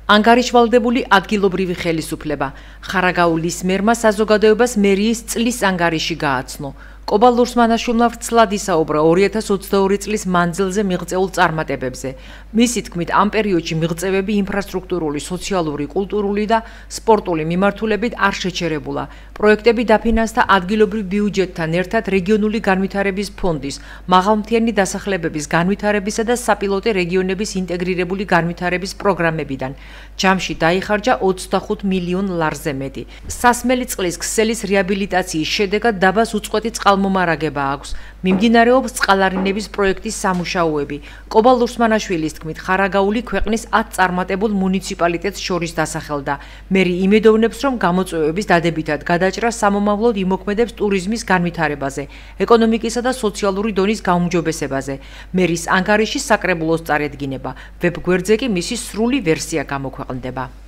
ანგარიშვალდებული ადგილობრივი ხელისუფლება ხარაგაულის მერმა საზოგადოებას მერიის წლის ანგარიში გააცნო. კობა ლურსმანაშვილმა ვრცლად ისაუბრა 2022 წლის მანძილზე მიღწეულ წარმატებებზე. მისი თქმით, ამ პერიოდში მიღწევები ინფრასტრუქტურული, სოციალური, კულტურული და სპორტული მიმართულებით არ შეჩერებულა. პროექტები დაფინანსდა ადგილობრივ ბიუჯეტთან ერთად რეგიონული განვითარების ფონდის, მაღალმთიანი დასახლებების განვითარებისა და საპილოტე რეგიონების ინტეგრირებული განვითარების პროგრამებიდან. ჯამში დაიხარჯა 25 მილიონ ლარზე მეტი. სასმელი წყლის ქსელის რეაბილიტაციის შედეგად დაბას უწყვეტი წყალმომარაგება აქვს. მიმდინარეობს წყალარინების პროექტის სამუშაოები. კობა ლურსმანაშვილის თქმით, ხარაგაული ქვეყნის 10 წარმატებულ მუნიციპალიტეტს შორის დასახელდა. მერი იმედოვნებს, რომ გამოწვევების დადებითად გადაჭრა სამომავლოდ იმოქმედებს ტურიზმის განვითარებაზე, ეკონომიკისა და სოციალური დონის გაუმჯობესებაზე. მერის ანგარიში საკრებულოს წარედგინება. ვებ გვერდზე კი მისი სრული ვერსია გამოქვეყნდება.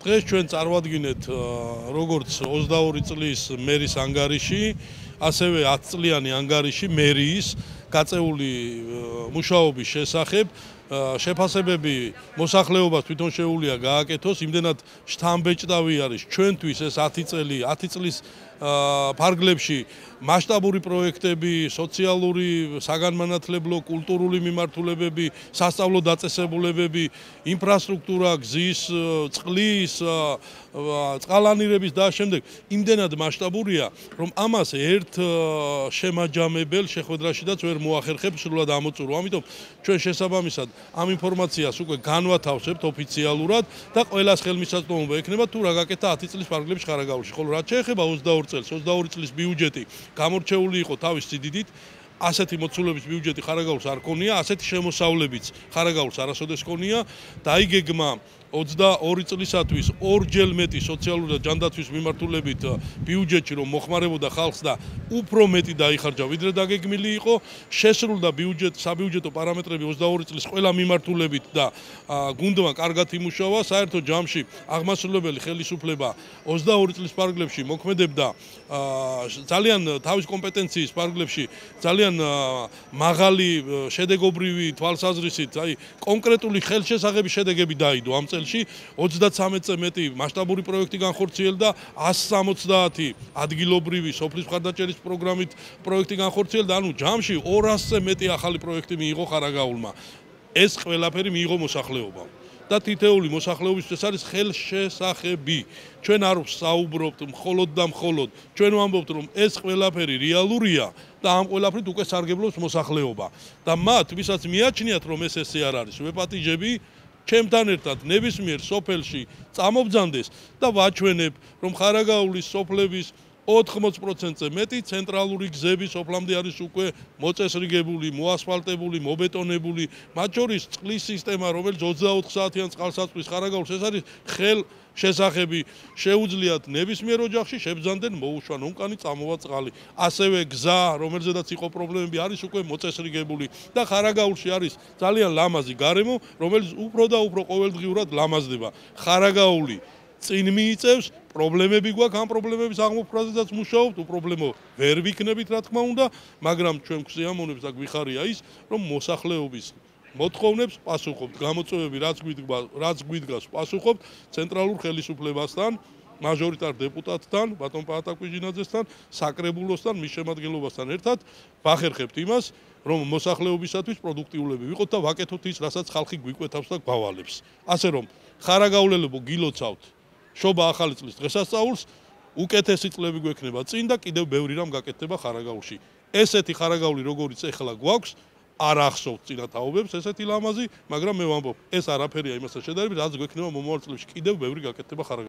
დღეს ჩვენ წარმოვადგინეთ როგორც 22 წლის მერის ანგარიში, ასევე 10 წლიანი ანგარიში მერიის გაწეული მუშაობის შესახებ. შეფასებები მოსახლეობას თვითონ შეუძლია გააკეთოს, იმდენად შთამბეჭდავი არის ჩვენთვის ეს 10 წლის ფარგლებში მასშტაბური პროექტები, სოციალური, საგანმანათლებლო, კულტურული მიმართულებები, სასწავლო დაწესებულებები, ინფრასტრუქტურა, გზის, წყლის, წყალანირების და შემდეგ იმდენად მასშტაბურია, რომ ამას ერთ შემაჯამებელ შეხვედრაშიდაც ვერ მოახერხებ სრულად ამოწურო. ამიტომ ჩვენ შესაბამისად ამ ინფორმაციას უკვე განვათავსებთ ოფიციალურად და ყველას ხელმისაწვდომობა ექნება თუ რა გაკეთა 10 წლის ფარგლებში ხარაგაულში. ხოლო რაც შეეხება 22 წელს, 22 წლის ბიუჯეტი გამორჩეული იყო თავის სიდიდით. ასეთი მოცულების ბიუჯეტი ხარაგაულს არ ქონია, ასეთი შემოსავლებიც ხარაგაულს არასოდეს ქონია. დაიგეგმა 22 წლისათვის ორჯერ მეტი სოციალური და ჯანდაცვის მიმართულებით ბიუჯეტი რომ მოხმარებოდა ხალხს და უფრო მეტი დაიხარჯა ვიდრე დაგეგმილი იყო. შესრულდა საბიუჯეტო პარამეტრები 22 წლის ყველა მიმართულებით და გუნდმა კარგად იმუშავა. საერთო ჯამში აღმასრულებელი ხელისუფლება 22 წლის ფარგლებში მოქმედებდა ძალიან თავის კომპეტენციის ფარგლებში ძალიან მაღალი შედეგობრივი თვალსაზრისით, აი კონკრეტული ხელშესაღები შედეგები დაიდო ამ წელს 33-ზე მეტი მასშტაბური პროექტი განხორციელდა, 170 ადგილობრივი სოფლის მხარდაჭერის პროგრამით პროექტი განხორციელდა, ანუ ჯამში 200-ზე მეტი ახალი პროექტი მიიღო ხარაგაულმა. ეს ყველაფერი მიიღო მოსახლეობამ. და თითეული მოსახლეობისთვის ეს არის ხელშესახები. ჩვენ არ ვსაუბრობთ მხოლოდ და მხოლოდ, ჩვენ ვამბობთ, რომ ეს ყველაფერი რეალურია და ამ ყველაფრით უკვე სარგებლობს მოსახლეობა. და მათ, ვისაც მიაჩნიათ, რომ ეს ესე არ არის, ვეპატიჟები ჩემთან ერთად ნებისმიერ სოფელში წამობძანდეს და ვაჩვენებ, რომ ხარაგაულის სოფლების 80%-ზე მეტი ცენტრალური გზები სოფლამდე არის უკვე მოწესრიგებული, მოასფალტებული, მობეტონებული, მათ შორის წყლის სისტემა, რომელიც 24 საათიან წყალსაცმლის ხარაგაულს, ეს არის ხელშესახები. შეუძლიათ ნებისმიერ ოჯახში შებრძანდნენ მოუშვან ონკანი წამოვა წყალი. ასევე გზა, რომელზედაც იყო პრობლემები, არის უკვე მოწესრიგებული და ხარაგაულში არის ძალიან ლამაზი გარემო, რომელიც უფრო და უფრო ყოველდღიურად ლამაზდება. ხარაგაული წინ მიიწევს, პრობლემები გვაქვს, ამ პრობლემების აღმოფხვრაზეც მუშაობთ, უპრობლემო ვერ ვიქნებით, რა თქმა უნდა, მაგრამ ჩვენ გვსიამოვნებს და გვიხარია ის, რომ მოსახლეობის მოთხოვნებს პასუხობთ, გამოწვევები რაც გვიდგას პასუხობთ ცენტრალურ ხელისუფლებასთან, მაჟორიტარ დეპუტატთან, ბატონ პაატაკვიჟინაძესთან, საკრებულოსთან, მის შემადგენლობასთან ერთად ვახერხებთ იმას, რომ მოსახლეობისათვის პროდუქტიულები ვიყოთ და ვაკეთოთ ის, რასაც ხალხი გვიკვეთავს და გვავალებს. ასე რომ ხარაგაულელებო გილოცავთ შობა ახალი წლის დღესასწაულს, უკეთესი წლები გვექნება წინ და კიდევ ბევრი რამ გაკეთდება ხარაგაულში. ესეთი ხარაგაული როგორიც ეხლა გვაქვს, არ ახსოვთ წინა თაობებს ესეთი ლამაზი, მაგრამ მე ვამბობ, ეს არაფერია იმასთან შედარებით, რაც გვექნება მომავალ წლებში კიდევ ბევრი გაკეთდება ხარაგაულში.